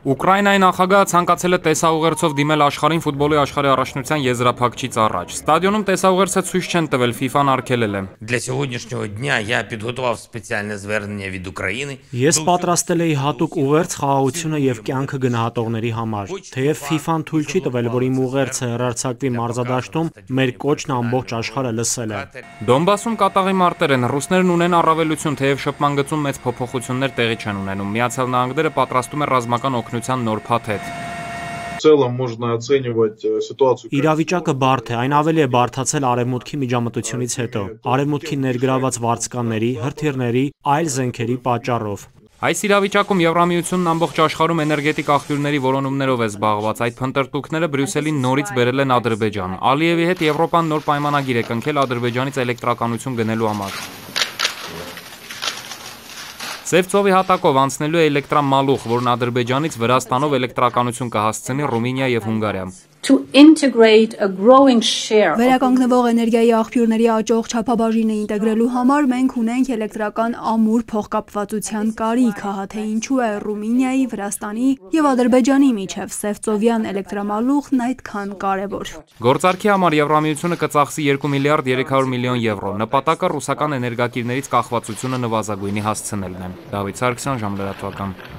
Ուկրաինայի նախագահը ցանկացել է տեսաուղերձով դիմել աշխարհին ֆուտբոլի աշխարհի առաջնության եզրափակիչից առաջ։ Ստադիոնում տեսաուղերձը ցույց չեն տվել, FIFA-ն արգելել է։ Для сьогоднішнього дня я підготував спеціальне звернення від України. Ես պատրաստել էի հատուկ ուղերձ խաղաղությունը եւ կյանքը գնահատողների համար։ Թեև FIFA-ն թույլ չի տվել, որ իմ ուղերձը հեռարձակվի մարզադաշտում, մեր կոչն ամբողջ աշխարհը լսել է։ Դոնբասում կատաղի մարտեր են, ռուսներն ունեն առավելություն, թեև շփման գծում մեծ փոփոխություններ տեղի չեն ունենում։ Միացյալ Նահանգները պատրաստում է ռազմական օգնության նոր փաթեթ։ Իրավիճակը բարդ է, այն ավելի է բարդացել արևմուտքի միջամտությունից հետո, արևմուտքի ներգրաված վարձկանների, հրթիռների, այլ զենքերի պատճառով։ Այս իրավիճակում Եվրամիությունն ամբողջ աշխարհում էներգետիկ աղբյուրների որոնումներով է զբաղված։ Այդ փնտրտուքները Բրյուսելին նորից բերել են Ադրբեջան։ Ալիևի հետ Եվրոպան նոր պայմանագիր է կնքել Ադրբեջանից էլեկտրականություն գնելու համար։ Սև ծովի հատակով անցնելու է էլեկտրամալուխ, որն Ադրբեջանից Վրաստանով էլեկտրականություն կհասցնի Ռումինիա եւ Հունգարիա։ Վերականգնվող էներգիայի աղբյուրների աճող չափաբաժինը ինտեգրելու համար մենք ունենք էլեկտրական ամուր փոխկապվածության կարիք, հա թե ինչու է Ռումինիայի, Վրաստանի եւ Ադրբեջանի միջև սևծովյան էլեկտրամալուխն այդքան կարեւոր։ Գործարքի համար Եվրամիությունը կծախսի 2 միլիարդ 300 միլիոն եվրո։ Նպատակը ռուսական էներգակիրներից կախվածությունը նվազագույնի հասցնելն է։ Դավիթ Սարգսյան, Ժամլրատվական։